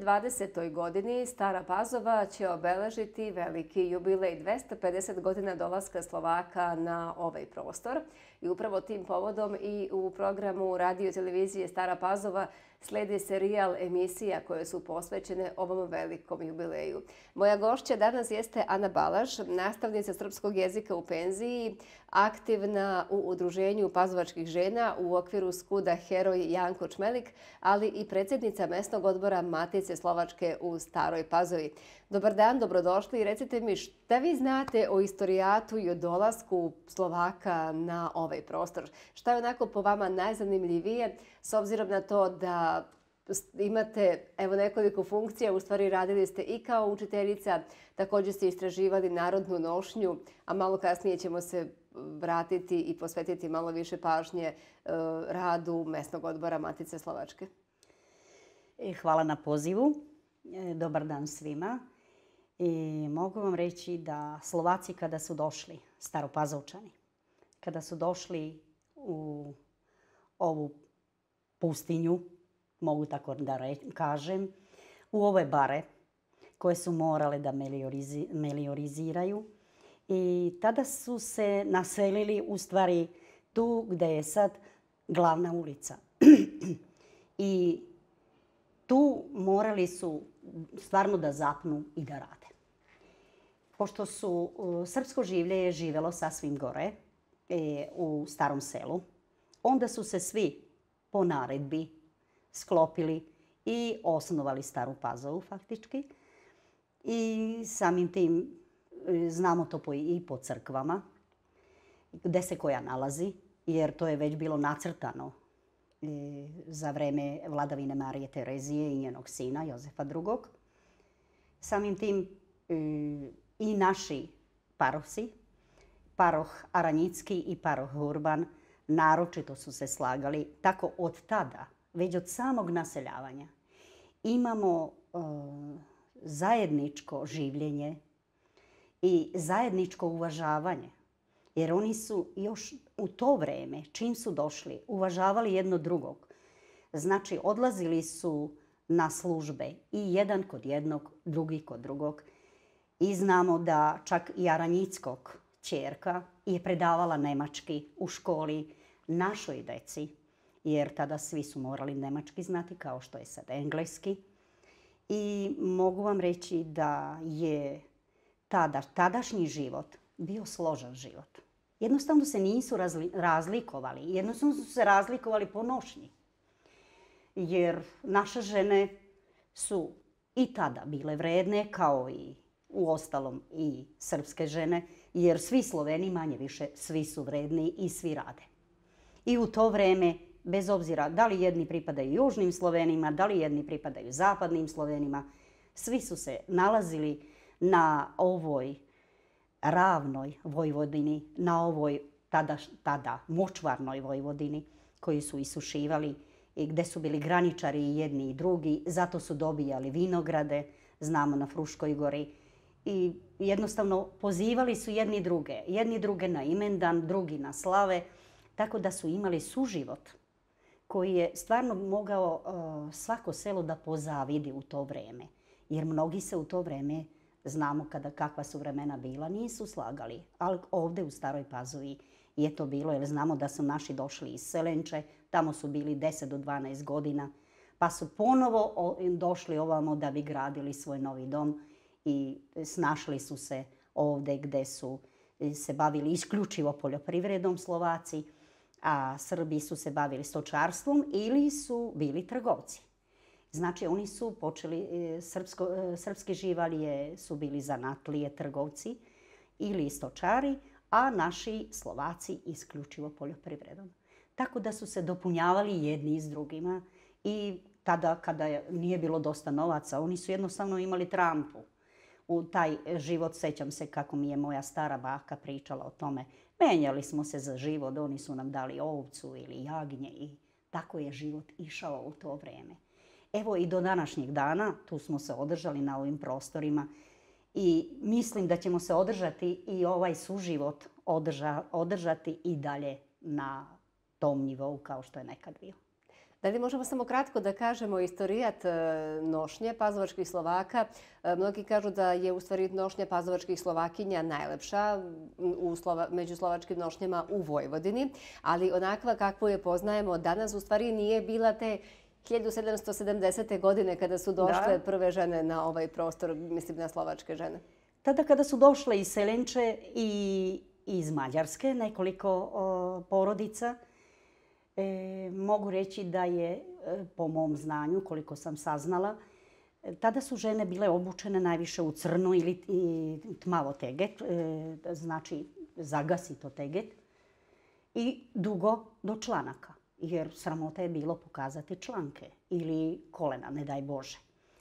2020. godini Stara Pazova će obeležiti veliki jubilej 250 godina dolaska Slovaka na ovaj prostor. I upravo tim povodom i u programu radio televizije Stara Pazova sledi serijal emisija koje su posvećene ovom velikom jubileju. Moja gošća danas jeste Ana Balaš, nastavnica srpskog jezika u penziji, aktivna u udruženju pazovačkih žena u okviru skuda Heroj Janko Čmelik, ali i predsjednica mesnog odbora Matice Slovačke u Staroj Pazovi. Dobar dan, dobrodošli i recite mi šta vi znate o istorijatu i o dolasku Slovaka na ovaj prostor. Šta je onako po vama najzanimljivije s obzirom na to da imate nekoliko funkcija, u stvari radili ste i kao učiteljica, također ste istraživali narodnu nošnju, a malo kasnije ćemo se vratiti i posvetiti malo više pažnje radu mesnog odbora Matice Slovačke. Hvala na pozivu. Dobar dan svima. I mogu vam reći da Slovaci kada su došli, Staropazovčani, kada su došli u ovu pustinju, mogu tako da kažem, u ove bare koje su morale da melioriziraju. I tada su se naselili u stvari tu gdje je sad glavna ulica. I tu morali su stvarno da zapnu i da rade. Pošto su srpsko življe živjelo sasvim gore u starom selu, onda su se svi po naredbi sklopili i osnovali Staru Pazovu faktički. I samim tim znamo to i po crkvama, gdje se koja nalazi, jer to je već bilo nacrtano za vreme vladavine Marije Terezije i njenog sina Jozefa II. Samim tim i naši parosi, paroh Aranjicki i paroh Urban, naročito su se slagali. Tako od tada, već od samog naseljavanja, imamo zajedničko življenje i zajedničko uvažavanje. Jer oni su još u to vreme, čim su došli, uvažavali jedno drugog. Znači, odlazili su na službe i jedan kod jednog, drugi kod drugog. I znamo da čak i Aranjickog ćerka je predavala nemački u školi našoj deci, jer tada svi su morali nemački znati kao što je sad engleski. I mogu vam reći da je tadašnji život bio složan život. Jednostavno se nisu razlikovali. Jednostavno su se razlikovali po nošnji. Jer naše žene su i tada bile vredne, kao i uostalom i srpske žene, jer svi Sloveni manje više, svi su vredni i svi rade. I u to vreme, bez obzira da li jedni pripadaju južnim Slovenima, da li jedni pripadaju zapadnim Slovenima, svi su se nalazili na ovoj ravnoj Vojvodini, na ovoj tada močvarnoj Vojvodini koju su isušivali i gdje su bili graničari i jedni i drugi. Zato su dobijali vinograde, znamo na Fruškoj gori. I jednostavno pozivali su jedni druge na imendan, drugi na slave, tako da su imali suživot koji je stvarno mogao svako selo da pozavidi u to vreme. Jer mnogi se u to vreme, znamo kakva su vremena bila, nisu slagali. Ali ovdje u Staroj Pazovi je to bilo, jer znamo da su naši došli iz Selenče, tamo su bili 10 do 12 godina, pa su ponovo došli ovamo da bi gradili svoj novi dom i snašli su se ovdje gdje su se bavili isključivo poljoprivredom Slovaci, a Srbi su se bavili stočarstvom ili su bili trgovci. Znači, oni su počeli, srpske živalje su bili zanatlije, trgovci ili stočari, a naši Slovaci isključivo poljoprivredom. Tako da su se dopunjavali jedni s drugima i tada kada nije bilo dosta novaca, oni su jednostavno imali trampu. U taj život, sećam se kako mi je moja stara baka pričala o tome. Menjali smo se za život, oni su nam dali ovcu ili jagnje i tako je život išao u to vreme. Evo i do današnjeg dana, tu smo se održali na ovim prostorima i mislim da ćemo se održati i ovaj suživot održati i dalje na tom nivou kao što je nekad bio. Da li možemo samo kratko da kažemo istorijat nošnje pazovačkih Slovaka? Mnogi kažu da je u stvari nošnja pazovačkih Slovakinja najlepša među slovačkim nošnjama u Vojvodini, ali onakva kakvu je poznajemo danas u stvari nije bila te 1770. godine kada su došle prve žene na ovaj prostor, mislim na slovačke žene. Tada kada su došle iz Selenče i iz Mađarske, nekoliko porodica, mogu reći da je, po mom znanju, koliko sam saznala, tada su žene bile obučene najviše u crno ili tmavo teget, znači zagasito teget, i dugo do članaka, jer sramota je bilo pokazati članke ili kolena, ne daj Bože,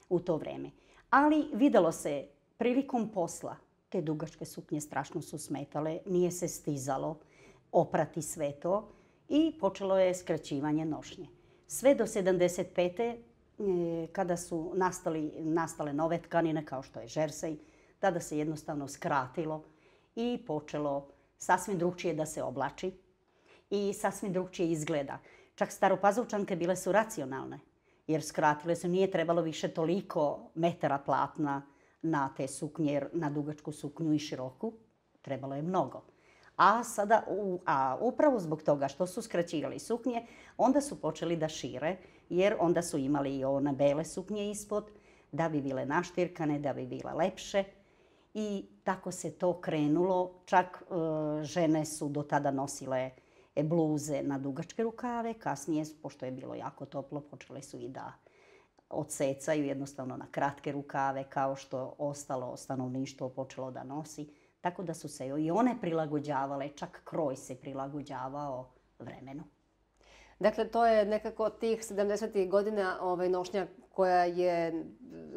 u to vreme. Ali videlo se prilikom posla, te dugačke suknje strašno su smetale, nije se stizalo oprati sve to i počelo je skraćivanje nošnje. Sve do 75. Kada su nastale nove tkanine kao što je žersej, tada se jednostavno skratilo i počelo sasvim drugčije da se oblači i sasvim drugčije izgleda. Čak staropazovčanke bile su racionalne, jer skratile su, nije trebalo više toliko metara platna na te suknje, jer na dugačku suknju i široku trebalo je mnogo. A upravo zbog toga što su skraćivali suknje, onda su počeli da šire, jer onda su imali i one bele suknje ispod, da bi bile naštirkane, da bi bile lepše. I tako se to krenulo. Čak žene su do tada nosile bluze na dugačke rukave. Kasnije, pošto je bilo jako toplo, počele su i da odsecaju jednostavno na kratke rukave, kao što ostalo stanovništvo počelo da nosi. Tako da su se i one prilagođavale, čak kroj se prilagođavao vremenu. Dakle, to je nekako tih 70. godina nošnja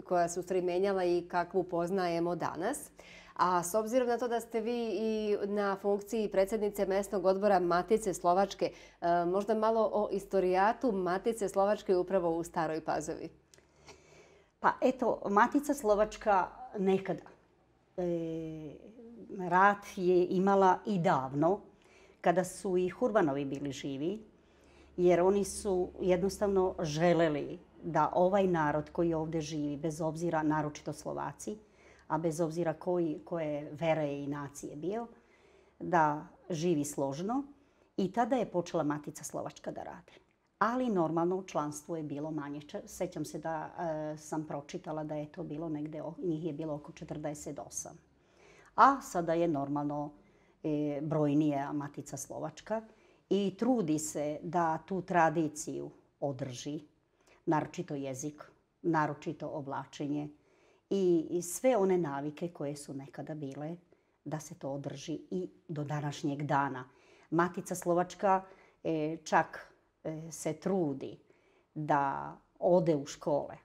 koja se u stvari menjala i kakvu poznajemo danas. A s obzirom na to da ste vi i na funkciji predsjednice mesnog odbora Matice Slovačke, možda malo o istorijatu Matice Slovačke upravo u Staroj Pazovi. Pa eto, Matica Slovačka nekada. Rat je imala i davno, kada su i Hurbanovi bili živi, jer oni su jednostavno želeli da ovaj narod koji ovdje živi, bez obzira, naročito Slovaci, a bez obzira koje vere i nacije bio, da živi složno. I tada je počela Matica Slovačka da radi. Ali normalno članstvo je bilo manje. Sećam se da sam pročitala da je to bilo negde, njih je bilo oko 48. A sada je normalno brojnija Matica Slovačka i trudi se da tu tradiciju održi, naročito jezik, naročito oblačenje i sve one navike koje su nekada bile, da se to održi i do današnjeg dana. Matica Slovačka čak se trudi da ode u škole,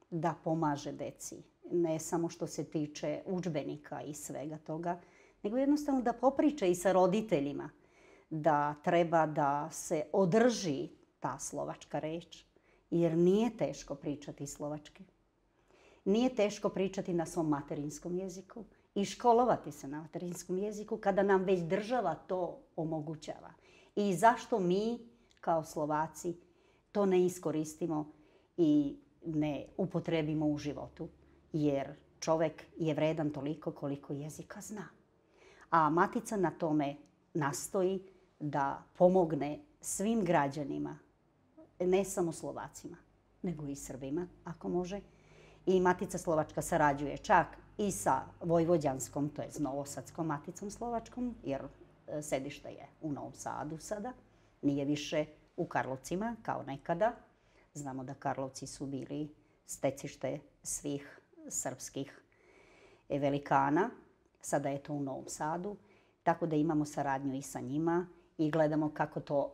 da pomaže deci. Ne samo što se tiče udžbenika i svega toga, nego jednostavno da popriča i sa roditeljima da treba da se održi ta slovačka reč, jer nije teško pričati slovački. Nije teško pričati na svom materinskom jeziku i školovati se na materinskom jeziku kada nam već država to omogućava. I zašto mi kao Slovaci to ne iskoristimo i ne upotrebimo u životu? Jer čovjek je vredan toliko koliko jezika zna. A Matica na tome nastoji da pomogne svim građanima, ne samo Slovacima, nego i Srbima, ako može. I Matica Slovačka sarađuje čak i sa Vojvođanskom, to je Novosadskom Maticom Slovačkom, jer sedište je u Novom Sadu sada. Nije više u Karlovcima kao nekada. Znamo da Karlovci su bili stecište svih srpskih velikana. Sada je to u Novom Sadu. Tako da imamo saradnju i sa njima i gledamo kako to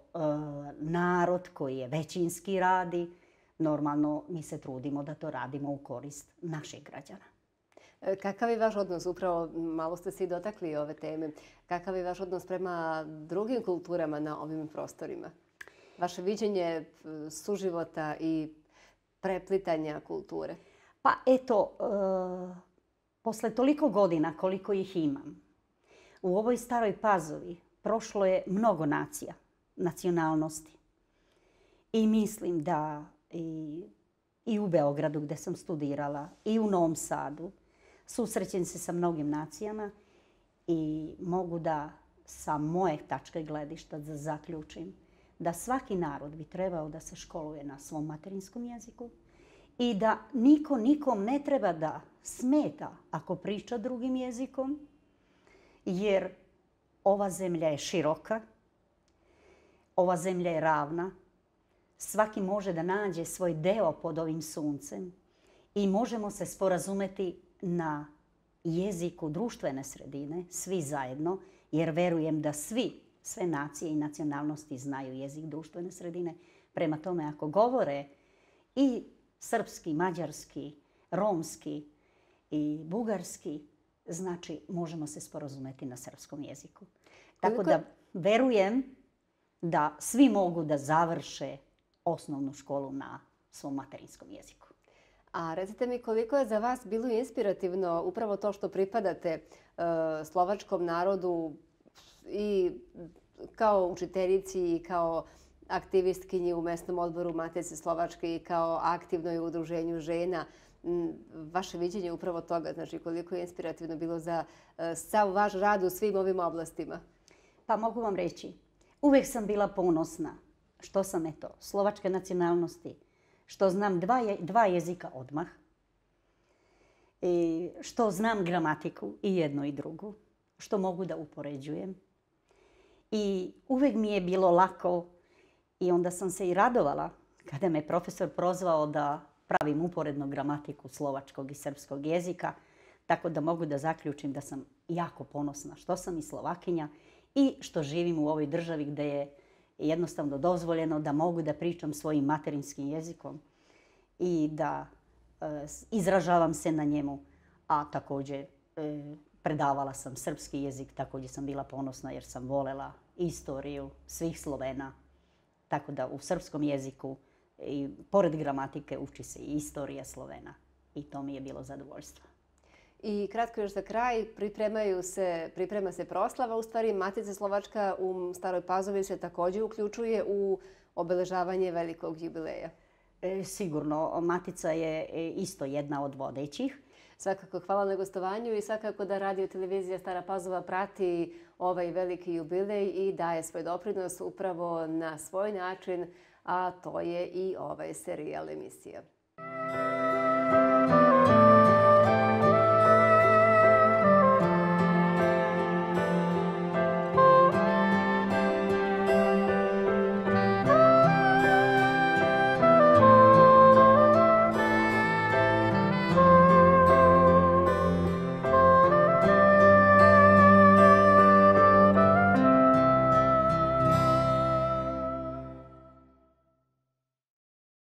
narod koji je većinski radi. Normalno mi se trudimo da to radimo u korist naših građana. Kakav je vaš odnos, upravo malo ste se i dotakli ove teme, kakav je vaš odnos prema drugim kulturama na ovim prostorima? Vaše viđenje suživota i preplitanja kulture? Pa eto, posle toliko godina koliko ih imam, u ovoj Staroj Pazovi prošlo je mnogo nacija, nacionalnosti. I mislim da i u Beogradu gdje sam studirala i u Novom Sadu susrećem se sa mnogim nacijama i mogu da sa moje tačke gledišta da zaključim da svaki narod bi trebao da se školuje na svom materinskom jeziku i da niko nikom ne treba da smeta ako priča drugim jezikom, jer ova zemlja je široka, ova zemlja je ravna, svaki može da nađe svoj deo pod ovim suncem i možemo se sporazumeti na jeziku društvene sredine, svi zajedno, jer verujem da sve nacije i nacionalnosti znaju jezik društvene sredine. Prema tome, ako govore i srpski, mađarski, romski i bugarski, znači možemo se sporazumeti na srpskom jeziku. Tako da verujem da svi mogu da završe osnovnu školu na svom materinskom jeziku. A recite mi koliko je za vas bilo inspirativno upravo to što pripadate slovačkom narodu i kao učiteljici i kao aktivistkinji u mesnom odboru Matice Slovačke i kao aktivnoj u udruženju žena. Vaše viđenje upravo toga, znači koliko je inspirativno bilo za sav vaš rad u svim ovim oblastima? Pa mogu vam reći, uvijek sam bila ponosna što sam slovačke nacionalnosti, što znam dva jezika odmah, što znam gramatiku i jednu i drugu, što mogu da upoređujem. I uvijek mi je bilo lako i onda sam se i radovala kada me profesor prozvao da pravim uporednu gramatiku slovačkog i srpskog jezika, tako da mogu da zaključim da sam jako ponosna što sam i Slovakinja i što živim u ovoj državi gdje je jednostavno dozvoljeno da mogu da pričam svojim materinskim jezikom i da izražavam se na njemu, a također predavala sam srpski jezik, također sam bila ponosna jer sam volela istoriju svih Slovena, tako da u srpskom jeziku i pored gramatike uči se i istorija Slovena i to mi je bilo zadovoljstvo. I kratko još za kraj, priprema se proslava. U stvari, Matica Slovačka u Staroj Pazovi se također uključuje u obeležavanje velikog jubileja. Sigurno, Matica je isto jedna od vodećih. Svakako hvala na gostovanju i svakako da Radio televizija Stara Pazova prati ovaj veliki jubilej i daje svoj doprinos upravo na svoj način, a to je i ovaj serijal emisija.